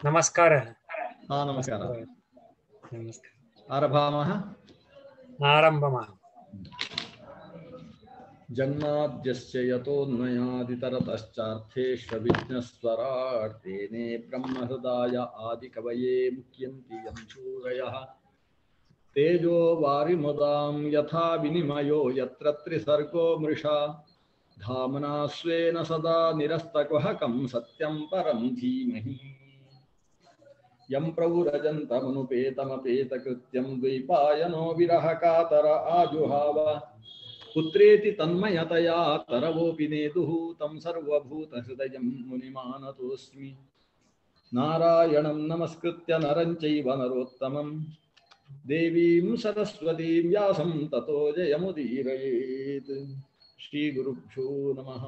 नमस्कारः। नमस्कारः। नमस्कारः। आरभामः। आरम्भमः। जन्माद्यस्य यतोऽन्वयादितरतश्चार्थेष्वभिघ्नस्वराट् तेने ब्रह्महृदाय आदिकवये मुह्यन्ति यं सूरयः तेजो वारिमुदां यथा विनिमयो यत्र त्रिसर्गो मृषा धाम्ना स्वेन सदा निरस्तकुहकं सत्यं परं धीमहि यं प्रव्रजन्तमनुपेतमपेतकृत्यं द्वैपायनो विरहकातर आजुहाव पुत्रेति तन्मयतया तरवोऽपि नेदुः तं सर्वभूतहृदयं मुनिमानतोऽस्मि नारायणं नमस्कृत्य नरं चैव नरोत्तमं देवीं सरस्वतीं व्यासं ततो जयमुदीरयेत्। श्रीगुरुभ्यो नमः।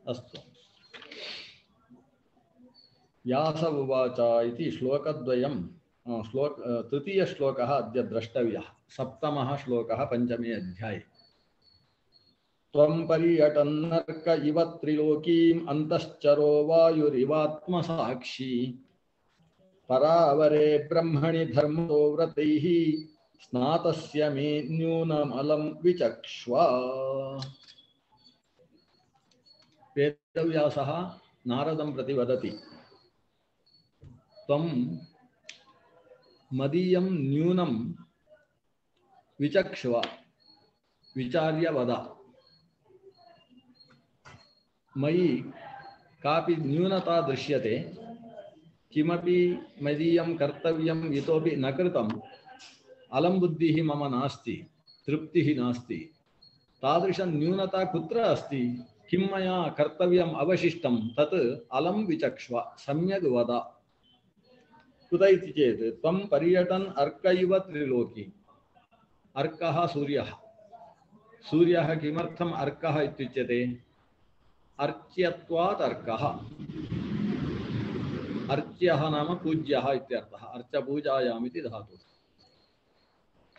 अस्तु। व्यास उवाच इति श्लोकद्वयं तृतीयश्लोकः अद्य द्रष्टव्यः। सप्तमः श्लोकः पञ्चमे अध्याये। त्वं पर्यटन्नर्क इव त्रिलोकीम् अन्तश्चरो वायुरिवात्मसाक्षी परावरे ब्रह्मणि धर्मो व्रतैः स्नातस्य मे न्यूनमलं विचक्ष्व। वेदव्यासः नारदं प्रति वदति, त्वं मदीयं न्यूनं विचक्ष्व, विचार्य वद। मयि कापि न्यूनता दृश्यते, किमपि मदीयं कर्तव्यं इतोपि न कृतम्, अलं बुद्धिः मम नास्ति, तृप्तिः नास्ति। तादृशं न्यूनता कुत्र अस्ति? किं मया कर्तव्यम् अवशिष्टं तत् अलं विचक्ष्व, सम्यग् वद। कुत इति चेत् त्वं पर्यटन् अर्क इव त्रिलोकी। अर्कः सूर्यः। सूर्यः किमर्थम् अर्कः इत्युच्यते? अर्च्यत्वात् अर्कः। अर्च्यः नाम पूज्यः इत्यर्थः। अर्चपूजायाम् इति धातुः।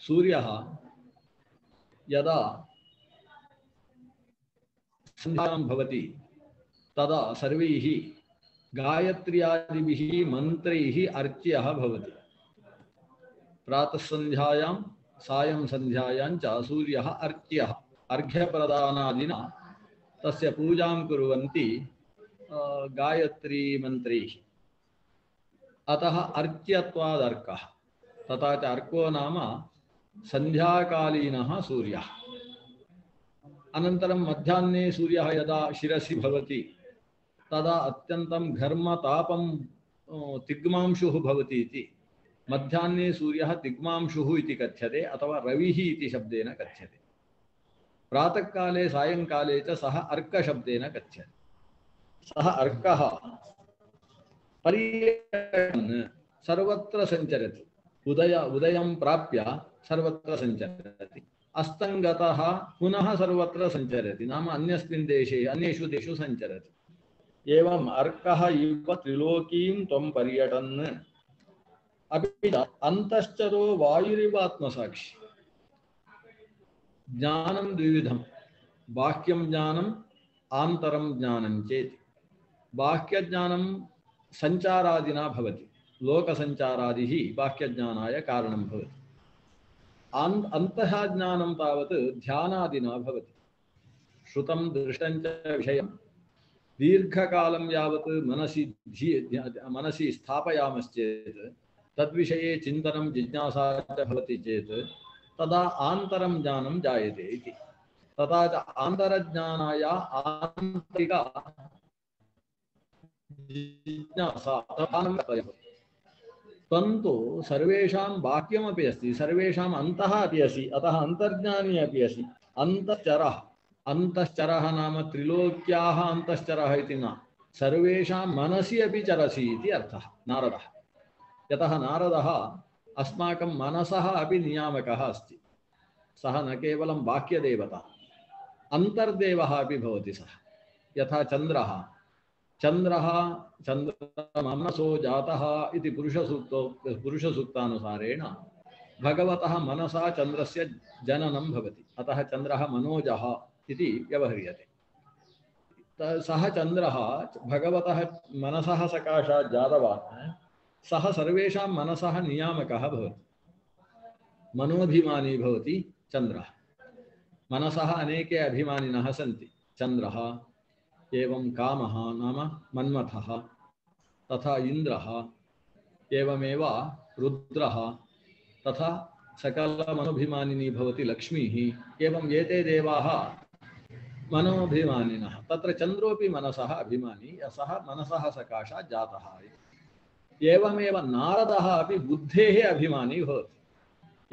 सूर्यः यदा सन्ध्यां भवति तदा सर्वैः गायत्र्यादिभिः मन्त्रैः अर्च्यः भवति। प्रातः सन्ध्यायां सायं सन्ध्यायां च सूर्यः अर्च्यः। अर्घ्यप्रदानादिना तस्य पूजां कुर्वन्ति गायत्री मन्त्रैः। अतः अर्च्यत्वादर्कः। तथा च अर्को नाम सन्ध्याकालीनः सूर्यः। अनन्तरं मध्याह्ने सूर्यः यदा शिरसि भवति तदा अत्यन्तं घर्मतापं तिग्मांशुः भवति इति मध्याह्ने सूर्यः तिग्मांशुः इति कथ्यते, अथवा रविः इति शब्देन कथ्यते। प्रातःकाले सायंकाले च सः अर्कशब्देन कथ्यते। सः अर्कः पर्यटन् सर्वत्र सञ्चरति। उदयं प्राप्य सर्वत्र सञ्चरति। अस्तङ्गतः पुनः सर्वत्र सञ्चरति, नाम अन्यस्मिन् देशे अन्येषु देशेषु सञ्चरति। एवम् अर्कः इव त्रिलोकीं त्वं पर्यटन्। अपि च अन्तश्चरो वायुरिवात्मसाक्षी। ज्ञानं द्विविधं, बाह्यं ज्ञानम् आन्तरं ज्ञानं चेति। बाह्यज्ञानं सञ्चारादिना भवति। लोकसञ्चारादिः बाह्यज्ञानाय कारणं भवति। अन्तः ज्ञानं तावत् ध्यानादिना भवति। श्रुतं दृष्टं च विषयं दीर्घकालं यावत् मनसि स्थापयामश्चेत्, तद्विषये चिन्तनं जिज्ञासा च भवति चेत् तदा आन्तरं ज्ञानं जायते इति। तथा च आन्तरज्ञानाय आन्तरिक जिज्ञासा परन्तु सर्वेषां बाह्यमपि अस्ति, सर्वेषाम् अन्तः अपि अस्ति। अतः अन्तर्ज्ञानी अपि अस्ति। अन्तश्चरः। अन्तश्चरः नाम त्रिलोक्याः अन्तश्चरः इति न, सर्वेषां मनसि अपि चरसि इति अर्थः नारदः। यतः नारदः अस्माकं मनसः अपि नियामकः अस्ति। सः न केवलं बाह्यदेवता, अन्तर्देवः अपि भवति सः। यथा चन्द्रः मनसो जातः इति पुरुषसूक्तानुसारेण भगवतः मनसा चन्द्रस्य जननं भवति, अतः चन्द्रः मनोजः इति व्यवह्रियते। सः चन्द्रः भगवतः मनसः सकाशात् जातवान्, सः सर्वेषां मनसः नियामकः भवति, मनोभिमानी भवति चन्द्रः। मनसः अनेके अभिमानिनः सन्ति, चन्द्रः एवं कामः नाम मन्मथः, तथा इन्द्रः, एवमेव रुद्रः, तथा सकलमनोभिमानिनी भवति लक्ष्मीः, एवं एते देवाः मनोभिमानिनः। तत्र चन्द्रोऽपि मनसः अभिमानी, सः मनसः सकाशात् जातः। एवमेव नारदः अपि बुद्धेः अभिमानी भवति।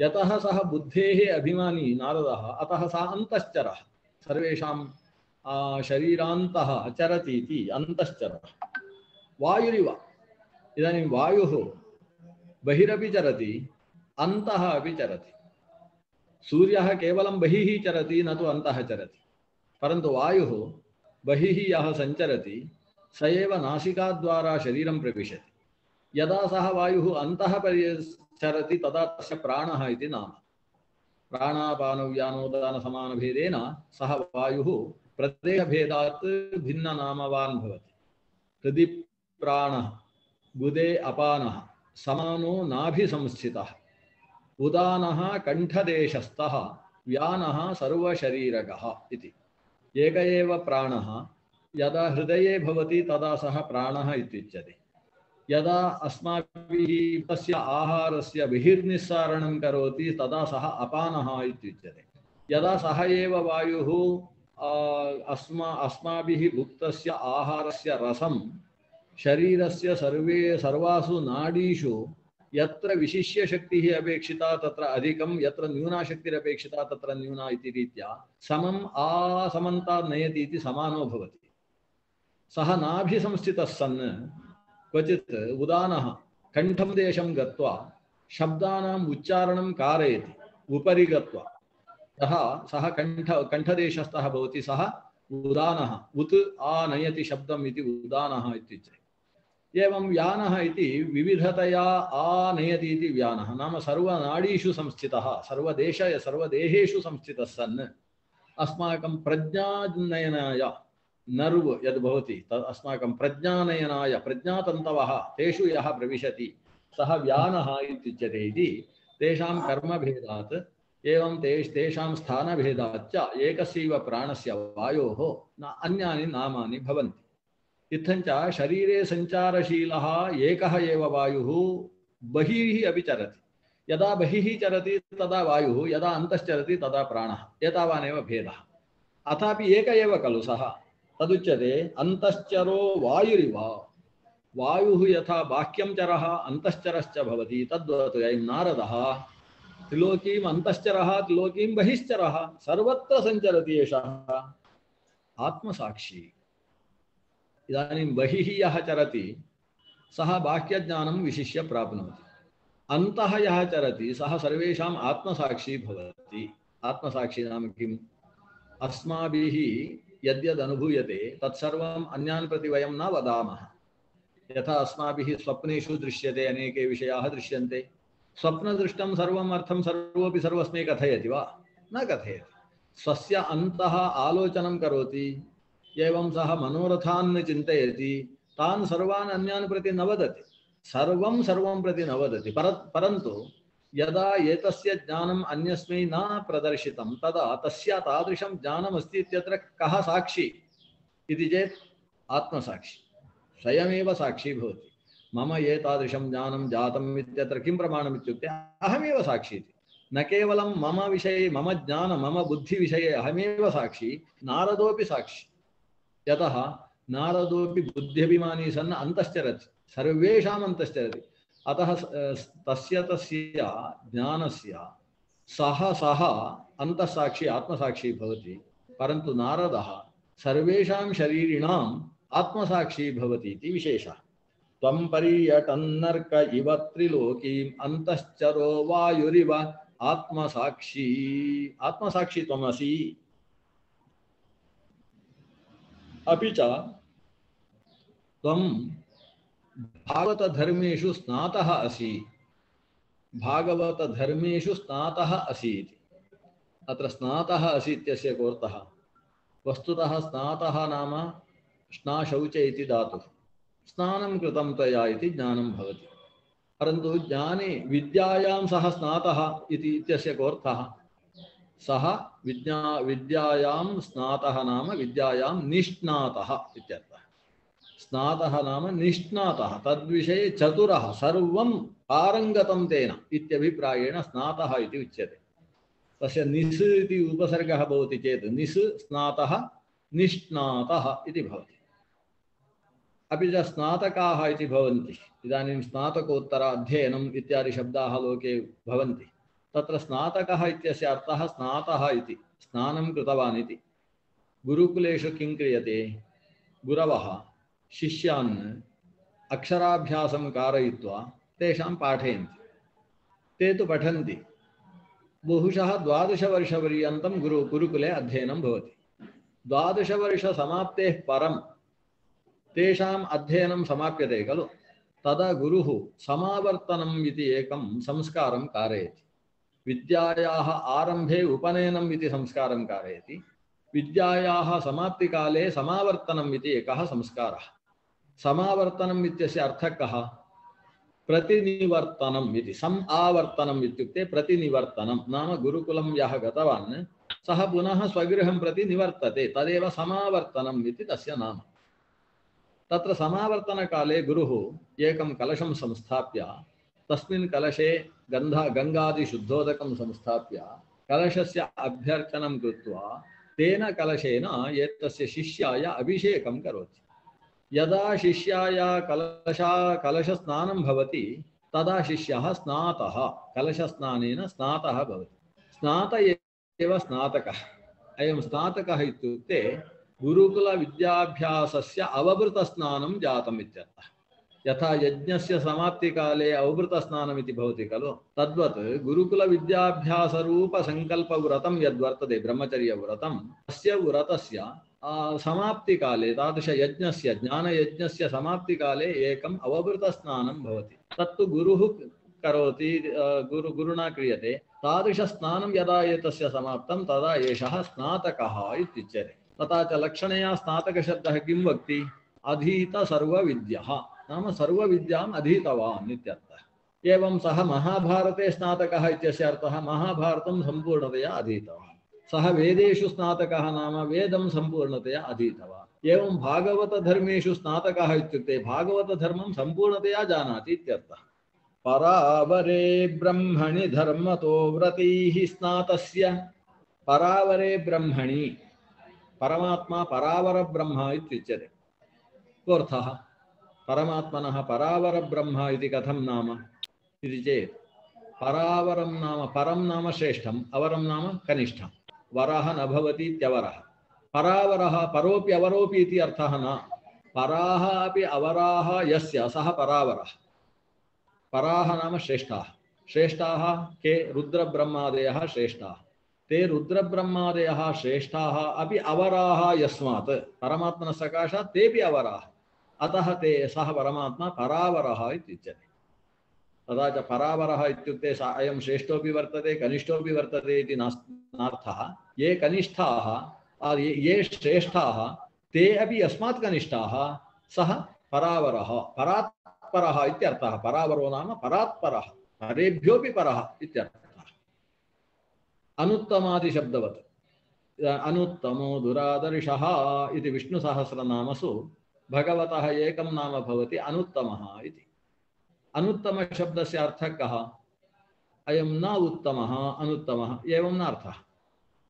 यतः सः बुद्धेः अभिमानी नारदः, अतः सः अन्तश्चरः, सर्वेषां शरीरान्तः चरति इति अन्तश्चरः। वायुरिव, इदानीं वायुः बहिरपि चरति, अन्तः अपि चरति। सूर्यः केवलं बहिः चरति, न तु अन्तः चरति, परन्तु वायुः बहिः यः सञ्चरति स एव नासिकाद्वारा शरीरं प्रविशति। यदा सः वायुः अन्तः चरति तदा तस्य प्राणः इति नाम। प्राणापानव्यानोदानसमानभेदेन सः वायुः प्रदेशभेदात् भिन्ननामवान् भवति। हृदि प्राणः, गुदे अपानः, समानो नाभिसंस्थितः, उदानः कण्ठदेशस्थः, व्यानः सर्वशरीरकः इति। एक एव प्राणः यदा हृदये भवति तदा सः प्राणः इत्युच्यते। यदा अस्माभिः तस्य आहारस्य बहिर्निस्सारणं करोति तदा सः अपानः इत्युच्यते। यदा सः एव वायुः अस्माभिः भुक्तस्य आहारस्य रसं शरीरस्य सर्वासु नाडीषु यत्र विशिष्य शक्तिः अपेक्षिता तत्र अधिकं, यत्र न्यूना शक्तिरपेक्षिता तत्र न्यूना इति रीत्या समम् असमन्तात् नयति इति समानो भवति। सः नाभिसंस्थितः सन् क्वचित् उदानः कण्ठं देशं गत्वा शब्दानाम् उच्चारणं कारयति, उपरि गत्वा सः कण्ठदेशस्थः भवति, सः उदानः। उत् आनयति शब्दम् इति उदानः इत्युच्यते। एवं व्यानः इति विविधतया आनयति इति व्यानः, नाम सर्वनाडीषु संस्थितः, सर्वदेहेषु संस्थितः सन् अस्माकं प्रज्ञानयनाय नर्व् यद् भवति तद् अस्माकं प्रज्ञानयनाय प्रज्ञातन्तवः तेषु यः प्रविशति सः व्यानः इत्युच्यते इति तेषां कर्मभेदात् एवं तेषां स्थानभेदाच्च एकस्यैव प्राणस्य वायोः अन्यानि नामानि भवन्ति। इत्थञ्च शरीरे सञ्चारशीलः एकः एव वायुः बहिः अपि चरति। यदा बहिः चरति तदा वायुः, यदा अन्तश्चरति तदा प्राणः, एतावानेव भेदः। अथापि एक एव खलु सः, तदुच्यते अन्तश्चरो वायुरिव। वायुः यथा बाह्यं चरः अन्तश्चरश्च भवति तद्वत् अयं नारदः त्रिलोकीम् अन्तश्चरः त्रिलोकीं बहिश्चरः सर्वत्र सञ्चरति एषः आत्मसाक्षी। इदानीं बहिः यः चरति सः बाह्यज्ञानं विशिष्य प्राप्नोति, अन्तः यः चरति सः सर्वेषाम् आत्मसाक्षी भवति। आत्मसाक्षी नाम किम्? अस्माभिः यद्यद् अनुभूयते तत्सर्वम् अन्यान् प्रति वयं न वदामः। यथा अस्माभिः स्वप्नेषु दृश्यते, अनेके विषयाः दृश्यन्ते, स्वप्नदृष्टं सर्वम् अर्थं सर्वोऽपि सर्वस्मै कथयति वा? न कथयति। स्वस्य अन्तः आलोचनं करोति, एवं सः मनोरथान् चिन्तयति, तान् सर्वान् अन्यान् प्रति न वदति, सर्वं प्रति न वदति। परन्तु यदा एतस्य ज्ञानम् अन्यस्मै न प्रदर्शितं तदा तस्य तादृशं ज्ञानमस्ति इत्यत्र कः साक्षी इति चेत् आत्मसाक्षी स्वयमेव साक्षी भवति। मम एतादृशं ज्ञानं जातम् इत्यत्र किं प्रमाणम् इत्युक्ते अहमेव साक्षी इति। न केवलं मम विषये, मम ज्ञान मम बुद्धिविषये अहमेव साक्षी, नारदोऽपि साक्षी। यतः नारदोऽपि बुद्ध्यभिमानी सन् अन्तश्चरति, सर्वेषाम् अन्तश्चरति। अतः तस्य ज्ञानस्य सः अन्तःसाक्षी आत्मसाक्षी भवति। परन्तु नारदः सर्वेषां शरीरिणाम् आत्मसाक्षी भवति इति विशेषः। त्वं पर्यटन्नर्क इव त्रिलोकीम् अन्तश्चरो वायुरिव आत्मसाक्षी। आत्मसाक्षी त्वमसि। अपि च त्वं भागवतधर्मेषु स्नातः असि। भागवतधर्मेषु स्नातः असि इति। अत्र स्नातः असि इत्यस्य कोऽर्थः? वस्तुतः स्नातः नाम स्नाशौच इति धातुः। स्नानं कृतं त्वया इति ज्ञानं भवति। परन्तु ज्ञाने विद्यायां सः स्नातः इति इत्यस्य कोऽर्थः? सः विद्यायां स्नातः नाम विद्यायां निष्णातः इत्यर्थः। स्नातः नाम निष्णातः, तद्विषये चतुरः, सर्वं पारङ्गतं तेन इत्यभिप्रायेण स्नातः इति उच्यते। तस्य निस् इति उपसर्गः भवति चेत् निस् स्नातः निष्णातः इति भवति। अपि च स्नातकाः इति भवन्ति। इदानीं स्नातकोत्तर अध्ययनम् इत्यादि शब्दाः लोके भवन्ति। तत्र स्नातकः इत्यस्य अर्थः स्नातः इति, स्नानं कृतवान् इति। गुरुकुलेषु किं क्रियते? गुरवः शिष्यान् अक्षराभ्यासं कारयित्वा तेषां पाठयन्ति। ते तु पठन्ति। बहुशः 12 वर्षपर्यन्तं गुरुकुले अध्ययनं भवति। 12 वर्षसमाप्तेः परं तेषाम् अध्ययनं समाप्यते खलु, तदा गुरुः समावर्तनम् इति एकं संस्कारं कारयति। विद्यायाः आरम्भे उपनयनम् इति संस्कारं कारयति। विद्यायाः समाप्तिकाले समावर्तनम् इति एकः संस्कारः। समावर्तनम् इत्यस्य अर्थः कः? प्रतिनिवर्तनम् इति। सम् आवर्तनम् इत्युक्ते प्रतिनिवर्तनं नाम गुरुकुलं यः गतवान् सः पुनः स्वगृहं प्रति निवर्तते, तदेव समावर्तनम् इति तस्य नाम। तत्र समावर्तनकाले गुरुः एकं कलशं संस्थाप्य तस्मिन् कलशे गङ्गादिशुद्धोदकं संस्थाप्य कलशस्य अभ्यर्चनं कृत्वा तेन कलशेन एतस्य शिष्याय अभिषेकं करोति। यदा शिष्याय कलशस्नानं भवति तदा शिष्यः स्नातः, कलशस्नानेन स्नातः भवति। स्नात एव स्नातकः। अयं स्नातकः इत्युक्ते गुरुकुलविद्याभ्यासस्य अवभृतस्नानं जातम् इत्यर्थः। यथा यज्ञस्य समाप्तिकाले अवभृतस्नानम् इति भवति खलु, तद्वत् गुरुकुलविद्याभ्यासरूपसङ्कल्पव्रतं यद्वर्तते ब्रह्मचर्यव्रतं, तस्य व्रतस्य समाप्तिकाले तादृशयज्ञस्य ज्ञानयज्ञस्य समाप्तिकाले एकम् अवभृतस्नानं भवति। तत्तु गुरुः करोति, गुरुणा क्रियते। तादृशस्नानं यदा एतस्य समाप्तं तदा एषः स्नातकः इत्युच्यते। तथा च लक्षणया स्नातकशब्दः किं वक्ति? अधीत सर्वविद्यः नाम सर्वविद्याम् अधीतवान् इत्यर्थः। एवं सः महाभारते स्नातकः इत्यस्य अर्थः महाभारतं सम्पूर्णतया अधीतवान्। सः वेदेषु स्नातकः नाम वेदं सम्पूर्णतया अधीतवान्। एवं भागवतधर्मेषु स्नातकः इत्युक्ते भागवतधर्मं सम्पूर्णतया जानाति इत्यर्थः। परावरे ब्रह्मणि धर्मतो व्रतैः स्नातस्य। परावरे ब्रह्मणि, परमात्मा परावर ब्रह्म इत्युच्यते। कोऽर्थः? परमात्मनः परावर ब्रह्म इति कथं नाम इति चेत्, परावरं नाम परं नाम श्रेष्ठम्, अवरं नाम कनिष्ठम्। वरः न भवति इत्यवरः। परावरः परोपि अवरोपि इति अर्थः न। पराः अपि अवराः यस्य सः परावरः। पराः नाम श्रेष्ठाः। श्रेष्ठाः के? रुद्रब्रह्मादयः श्रेष्ठाः। ते रुद्रब्रह्मादयः श्रेष्ठाः अपि अवराः यस्मात् परमात्मनः सकाशात् तेपि अवराः। अतः ते सः परमात्मा परावरः इत्युच्यते। तथा च परावरः इत्युक्ते अयं श्रेष्ठोपि वर्तते कनिष्ठोपि वर्तते इति नार्थः। ये कनिष्ठाः ये श्रेष्ठाः ते अपि अस्मात् कनिष्ठाः, सः परावरः परात्परः इत्यर्थः। परावरो नाम परात्परः, परेभ्योऽपि परः इत्यर्थः। अनुत्तमादिशब्दवत्। अनुत्तमो दुरादर्शः इति विष्णुसहस्रनामसु भगवतः एकं नाम भवति अनुत्तमः इति। अनुत्तम शब्दस्य अर्थः कः? अयं न उत्तमः अनुत्तमः एवं न अर्थः।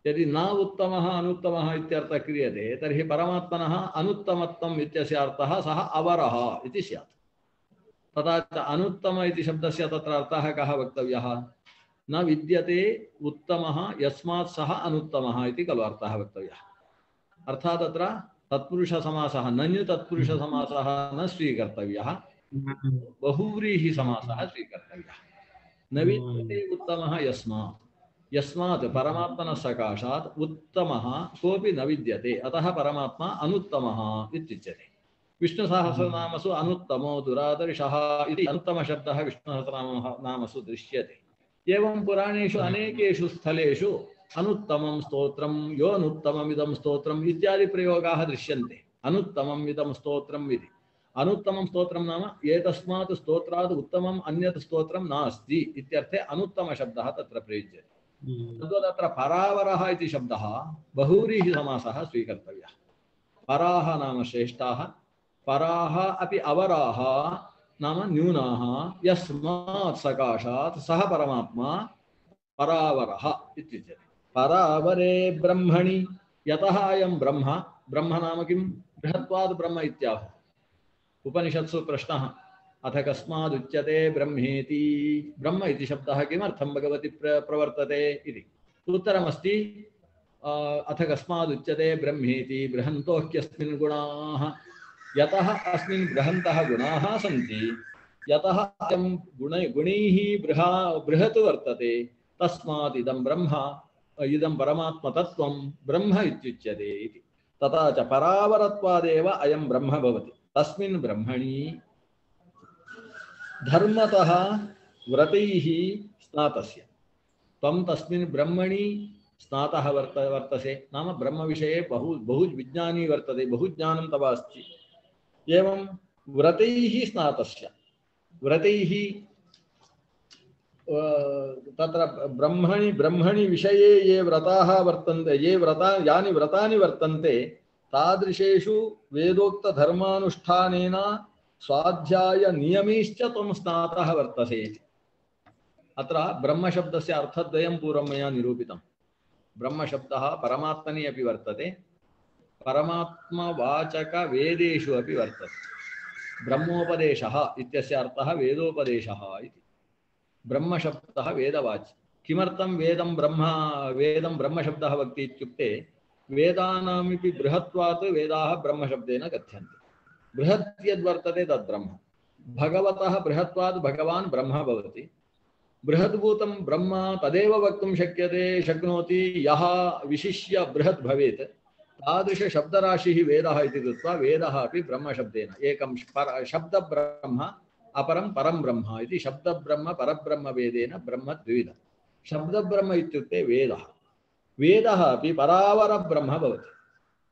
यदि न उत्तमः अनुत्तमः इत्यर्थः क्रियते तर्हि परमात्मनः अनुत्तमत्वम् इत्यस्य अर्थः सः अवरः इति स्यात्। तथा च अनुत्तम इति शब्दस्य तत्र अर्थः कः वक्तव्यः? न विद्यते उत्तमः यस्मात् सः अनुत्तमः इति खलु अर्थः वक्तव्यः। अर्थात् तत्र तत्पुरुषसमासः नञ् तत्पुरुषसमासः न स्वीकर्तव्यः, बहुव्रीहि समासः स्वीकर्तव्यः। न विद्यते उत्तमः यस्मात्, यस्मात् परमात्मनः सकाशात् उत्तमः कोऽपि न विद्यते, अतः परमात्मा अनुत्तमः इत्युच्यते। विष्णुसहस्रनामसु अनुत्तमो दुरादर्शः इति अनुत्तमशब्दः विष्णुसहस्रनामसु दृश्यते। एवं पुराणेषु अनेकेषु स्थलेषु अनुत्तमं स्तोत्रं यो अनुत्तममिदं स्तोत्रम् इत्यादि प्रयोगाः दृश्यन्ते। अनुत्तमम् इदं स्तोत्रम् इति। अनुत्तमं स्तोत्रं नाम एतस्मात् स्तोत्रात् उत्तमम् अन्यत् स्तोत्रं नास्ति इत्यर्थे अनुत्तमशब्दः तत्र प्रयुज्यते। तद्वदत्र परावरः इति शब्दः बहुव्रीहिसमासः स्वीकर्तव्यः। पराः नाम श्रेष्ठाः, पराः अपि अवराः नाम न्यूनाः, यस्मात् सकाशात् सः परमात्मा परावरः इत्युच्यते। परावरे ब्रह्मणि यतः अयं ब्रह्म, ब्रह्म नाम किं? बृहत्वाद् ब्रह्म इत्याहुः। उपनिषत्सु प्रश्नः, अथ कस्मादुच्यते ब्रह्मेति? ब्रह्म इति शब्दः किमर्थं भगवति प्रवर्तते इति। उत्तरमस्ति अथ कस्मादुच्यते ब्रह्मेति बृहन्तोऽह्यस्मिन् गुणाः। यतः अस्मिन् बृहन्तः गुणाः सन्ति, यतः अयं गुणैः बृहत् वर्तते, तस्मात् इदं ब्रह्म, इदं परमात्मतत्त्वं ब्रह्म इत्युच्यते इति। तथा च परावरत्वादेव अयं ब्रह्म भवति। तस्मिन् ब्रह्मणि धर्मतः व्रतैः स्नातस्य। त्वं तस्मिन् ब्रह्मणि स्नातः वर्तसे नाम ब्रह्म विषये बहु विज्ञानी वर्तते, बहु ज्ञानं तव अस्ति। एवं व्रतैः स्नातस्य, व्रतैः तत्र ब्रह्मणि विषये ये व्रताः वर्तन्ते, यानि व्रतानि वर्तन्ते, तादृशेषु वेदोक्तधर्मानुष्ठानेन स्वाध्याय नियमैश्च त्वं स्नातः वर्तसे। अत्र ब्रह्मशब्दस्य अर्थद्वयं पूर्वं मया निरूपितं। ब्रह्मशब्दः परमात्मनि अपि वर्तते, परमात्मवाचकवेदेषु अपि वर्तते। ब्रह्मोपदेशः इत्यस्य अर्थः वेदोपदेशः इति। ब्रह्मशब्दः वेदवाची। किमर्थं वेदं ब्रह्मशब्दः वक्ति इत्युक्ते वेदानामपि बृहत्वात् वेदाः ब्रह्मशब्देन कथ्यन्ते। बृहत् यद्वर्तते तद्ब्रह्म। भगवतः बृहत्वात् भगवान् ब्रह्म भवति। बृहद्भूतं ब्रह्म तदेव वक्तुं शक्नोति यः विशिष्य बृहत् भवेत्। तादृशशब्दराशिः वेदः इति कृत्वा वेदः अपि ब्रह्मशब्देन एकं शब्दब्रह्म अपरं परं ब्रह्म इति शब्दब्रह्म परब्रह्म वेदेन ब्रह्म द्विविधः। शब्दब्रह्म इत्युक्ते वेदः। वेदः अपि परावरब्रह्म भवति।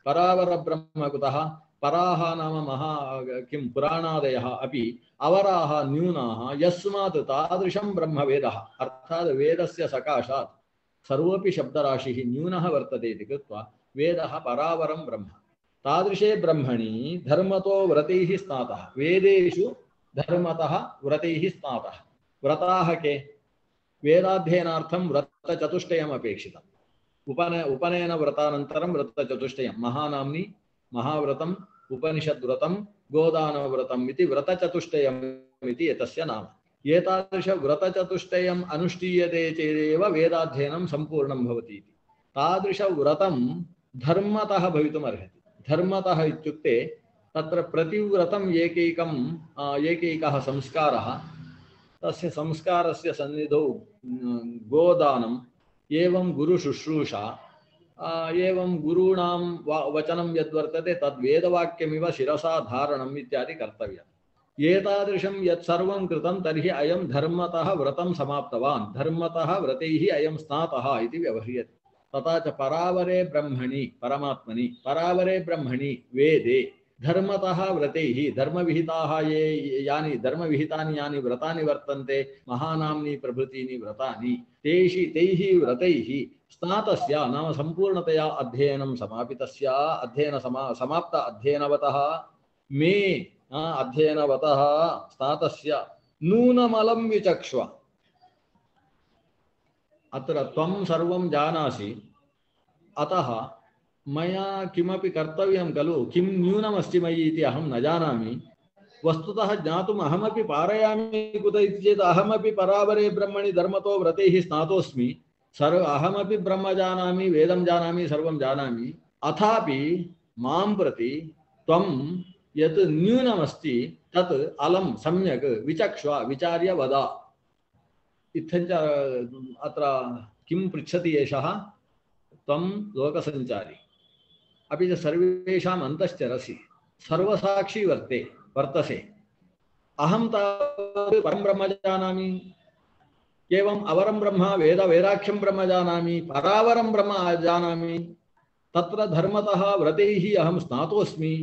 परावरब्रह्म कुतः? पराः नाम किं पुराणादयः अपि अवराः न्यूनाः, यस्मात् तादृशं ब्रह्म वेदः, अर्थात् वेदस्य सकाशात् सर्वोऽपि शब्दराशिः न्यूनः वर्तते इति कृत्वा वेदः परावरं ब्रह्म। तादृशे ब्रह्मणि धर्मतो व्रतैः स्नातः। वेदेषु धर्मतः व्रतैः स्नातः। व्रताः के? वेदाध्ययनार्थं व्रतचतुष्टयम् अपेक्षितम्। उपनयन व्रतानन्तरं व्रतचतुष्टयं महानाम्नि महाव्रतम्, उपनिषद्व्रतं, गोदानव्रतम् इति व्रतचतुष्टयम् इति एतस्य नाम। एतादृश व्रतचतुष्टयम् अनुष्ठीयते चेदेव वेदाध्ययनं सम्पूर्णं भवति इति। तादृशव्रतं धर्मतः भवितुमर्हति। धर्मतः इत्युक्ते तत्र प्रतिव्रतम् एकैकः संस्कारः, तस्य संस्कारस्य सन्निधौ गोदानम्, एवं गुरुशुश्रूषा, एवं गुरूणां वचनं यद्वर्तते तद्वेदवाक्यमिव शिरसा धारणम् इत्यादि कर्तव्यम्। एतादृशं यत्सर्वं कृतं तर्हि अयं धर्मतः व्रतं समाप्तवान्, धर्मतः व्रतैः अयं स्नातः इति व्यवह्रियते। तथा च परावरे ब्रह्मणि परमात्मनि, परावरे ब्रह्मणि वेदे धर्मतः व्रतैः, धर्मविहितानि यानि व्रतानि वर्तन्ते, महानाम्नि प्रभृतीनि व्रतानि, तैः व्रतैः स्नातस्य नाम सम्पूर्णतया अध्ययनं समापितस्य, समाप्त अध्ययनवतः मे अध्ययनवतः स्नातस्य नूनमलं विचक्ष्व। अत्र त्वं सर्वं जानासि, अतः मया किमपि कर्तव्यं खलु, किं न्यूनमस्ति मयि इति अहं न जानामि। वस्तुतः ज्ञातुम् अहमपि पारयामि कुत इति चेत् अहमपि परावरे ब्रह्मणि धर्मतो व्रतैः स्नातोऽस्मि। अहमपि ब्रह्म जानामि, वेदं जानामि, सर्वं जानामि। अथापि मां प्रति त्वं यत् न्यूनमस्ति तत् अलं सम्यक् विचक्ष्व, विचार्य वद। इत्थञ्च अत्र किं पृच्छति एषः? त्वं लोकसञ्चारी, अपि च सर्वेषाम् अन्तश्चरसि। सर्वसाक्षी वर्तसे। अहं तावत् परं ब्रह्म जानामि, एवम् अवरं ब्रह्म वेदाख्यं ब्रह्म जानामि, परावरं ब्रह्म जानामि। तत्र धर्मतः व्रतैः अहं स्नातोऽस्मि,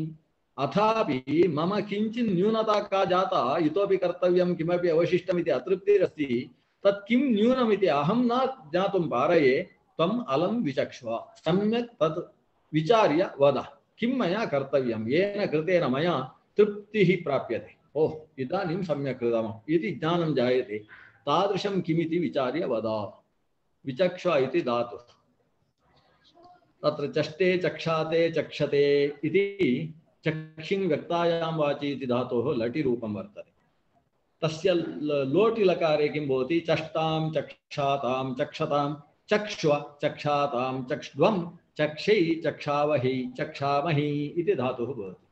अथापि मम किञ्चित् न्यूनता का जाता, इतोपि कर्तव्यं किमपि अवशिष्टमिति अतृप्तिरस्ति। तत् किं न्यूनमिति अहं न ज्ञातुं पारये, त्वम् अलं विचक्ष्व, सम्यक् तत् विचार्य वद, किं मया कर्तव्यं, येन कृतेन मया तृप्तिः प्राप्यते। ओह, इदानीं सम्यक् कृतम् इति ज्ञानं जायते। तादृशं किमिति विचार्य वद। विचक्ष्व इति धातुः। तत्र चष्टे चक्षाते चक्षते इति चक्षिन् व्यक्तायां वाचि इति धातोः लटि रूपं वर्तते। तस्य लोटि लकारे किं भवति? चष्टां चक्षातां चक्षतां चक्ष्व चक्षातां चक्ष्ध्वं चक्षै चक्षावहि चक्षामहि इति धातुः भवति।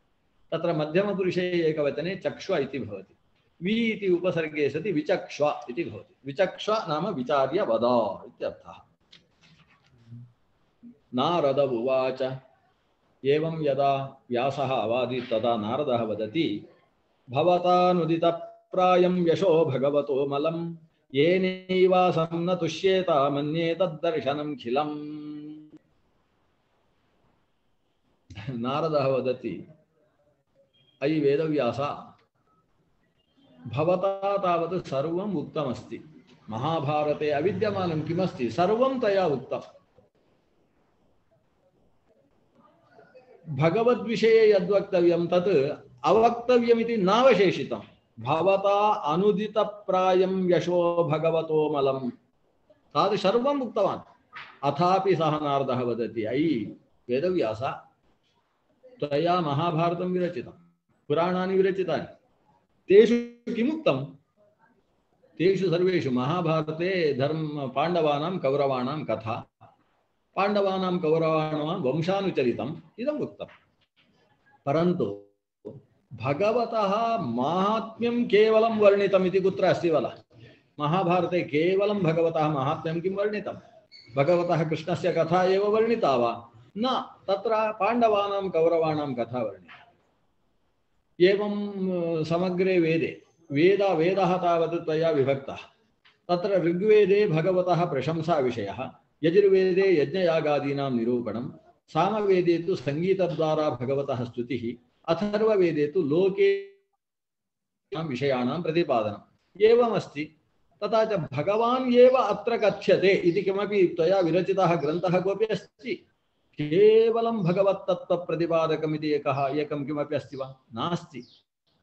तत्र मध्यमपुरुषे एकवचने चक्ष्व इति भवति। वि इति उपसर्गे सति विचक्ष्व इति भवति। विचक्ष्व नाम विचार्य वद इत्यर्थः। नारद उवाच एवं यदा व्यासः अवादीत् तदा नारदः वदति भवतानुदितप्रायं यशो भगवतो मलं येनैवासं न तुष्येत मन्ये तद्दर्शनं खिलम्। नारदः वदति अयि वेदव्यास, भवता तावत् सर्वम् उक्तमस्ति। महाभारते अविद्यमानं किमस्ति सर्वं तया उक्तम्। भगवद्विषये यद्वक्तव्यं तत् अवक्तव्यमिति नावशेषितं। भवता अनुदितप्रायं यशो भगवतो मलं तादृश सर्वम् उक्तवान्। अथापि सः नारदः वदति अयि वेदव्यास, त्वया महाभारतं विरचितं, पुराणानि विरचितानि, तेषु किमुक्तं? तेषु सर्वेषु महाभारते धर्म पाण्डवानां कौरवाणां कथा, पाण्डवानां कौरवाणां वंशानुचरितम् इदम् उक्तं। परन्तु भगवतः माहात्म्यं केवलं वर्णितम् इति कुत्र अस्ति वद? महाभारते केवलं भगवतः माहात्म्यं किं वर्णितं? भगवतः कृष्णस्य कथा एव वर्णिता वा? न, तत्र पाण्डवानां कौरवाणां कथा वर्णिता। एवं समग्रे वेदे वेदः तावत् त्वया विभक्तः। तत्र ऋग्वेदे भगवतः प्रशंसाविषयः, यजुर्वेदे यज्ञयागादीनां निरूपणं, सामवेदे तु संगीतद्वारा भगवतः स्तुतिः, अथर्ववेदे तु लोके विषयाणां प्रतिपादनम् एवमस्ति। तथा च भगवान् एव अत्र कथ्यते इति किमपि त्वया विरचितः ग्रन्थः कोऽपि अस्ति? केवलं भगवत्तत्त्वप्रतिपादकमिति एकं किमपि अस्ति वा? नास्ति।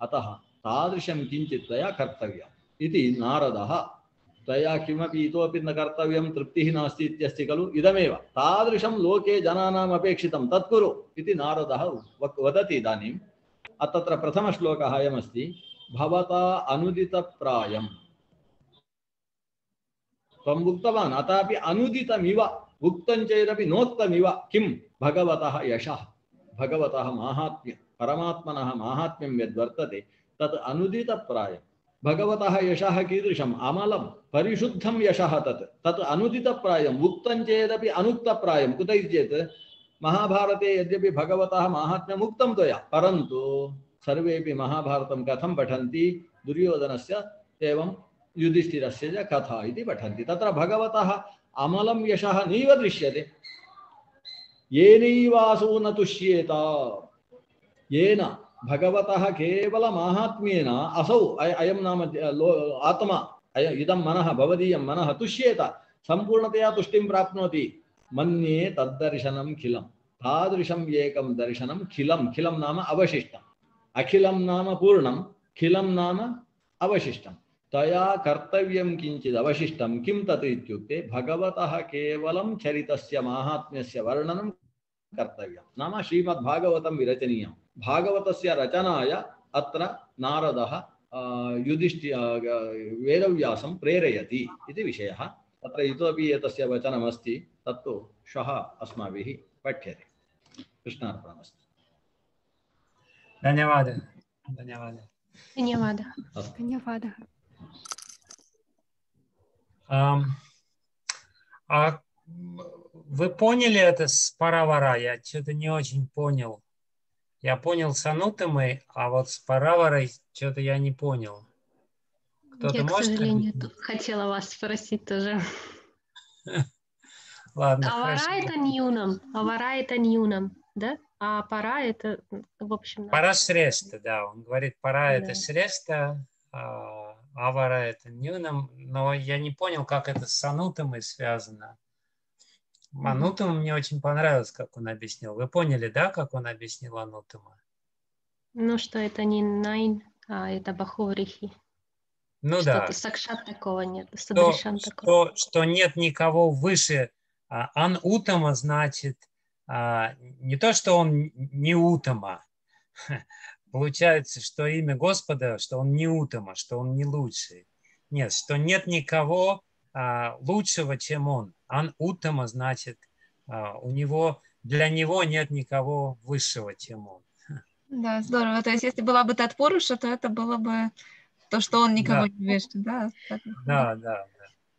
अतः तादृशं किञ्चित् त्वया कर्तव्यम् इति नारदः, त्वया किमपि इतोपि न कर्तव्यं, तृप्तिः नास्ति इत्यस्ति खलु, इदमेव तादृशं लोके जनानाम् अपेक्षितं तत् कुरु इति नारदः वदति। इदानीं तत्र प्रथमश्लोकः अयमस्ति, भवता अनुदितप्रायं त्वम् उक्तवान्, अथापि अनुदितमिव उक्तं चेदपि नोक्तमिव किं? भगवतः यशः, भगवतः माहात्म्यं, परमात्मनः माहात्म्यं यद्वर्तते तत् अनुदितप्रायं। भगवतः यशः कीदृशम्? अमलं परिशुद्धं यशः, तत् अनुदितप्रायम्, उक्तं चेदपि अनुक्तप्रायं। कुत इति चेत् महाभारते यद्यपि भगवतः माहात्म्यम् उक्तं त्वया, परन्तु सर्वेपि महाभारतं कथं पठन्ति? दुर्योधनस्य एवं युधिष्ठिरस्य च कथा इति पठन्ति। तत्र भगवतः अमलं यशः नैव दृश्यते। येनैवासो न तुष्येत, येन भगवतः केवल माहात्म्येन असौ अयं नाम आत्मा, इदं मनः, भवदीयं मनः तुष्येत, सम्पूर्णतया तुष्टिं प्राप्नोति। मन्ये तद्दर्शनं खिलं, तादृशम् एकं दर्शनं खिलं, खिलं नाम अवशिष्टम्, अखिलं नाम पूर्णं, खिलं नाम अवशिष्टं। तया कर्तव्यं किञ्चित् अवशिष्टं। किं तत् इत्युक्ते भगवतः केवलं चरितस्य माहात्म्यस्य वर्णनं कर्तव्यं, नाम श्रीमद्भागवतं विरचनीयं। भागवतस्य रचनाय अत्र नारदः वेदव्यासं प्रेरयति इति विषयः। तत्र इतोपि एतस्य वचनमस्ति, तत्तु श्वः अस्माभिः पठ्यते। कृष्णार्पणमस्तु। धन्यवादः। धन्यवादः। धन्यवादः. धन्यवादः. Вы поняли это с паравара? Я что-то не очень понял. Я понял с анутамой, а вот с параварой что-то я не понял. Кто-то Я, к может сожалению, объяснить? хотела вас спросить тоже. Ладно, Авара хорошо. это ньюнам, авара это ньюнам, да? А пара это, в общем, надо. Пара срешта, да. Он говорит, пара это Да. срешта, авара это нюнам, но я не понял, как это с анутамой связано. Анутама мне очень понравилось, как он объяснил. Вы поняли, да, как он объяснил анутама? Ну, что это не найн, а это бахурихи. Ну Что-то да, сакшат такого нет, садришан такого. что нет никого выше. Ан утама значит не то, что он не утама. Получается, что имя Господа, что он не утама, что он не лучший. Нет, что нет никого лучшего, чем он. Ан утама значит, для него нет никого высшего, чем он. Да, здорово. То есть, если была бы Татпуруша, то это было бы то, что он никого Да, не вешает, да? Так выходит. да.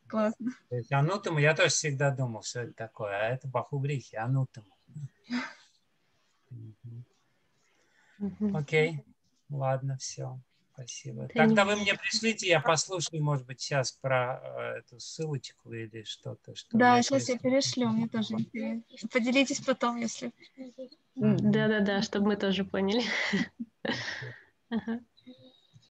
Классно. То есть анутама, я тоже всегда думал, что это такое, а это бахубрихи, анутама. Окей, ладно, все, спасибо. Тогда вы мне пришлите, я послушаю, может быть, сейчас про эту ссылочку или что-то, что Да, я сейчас я перешлю, мне тоже интересно. Поделитесь потом, если... Да-да-да, чтобы мы тоже поняли. Ага.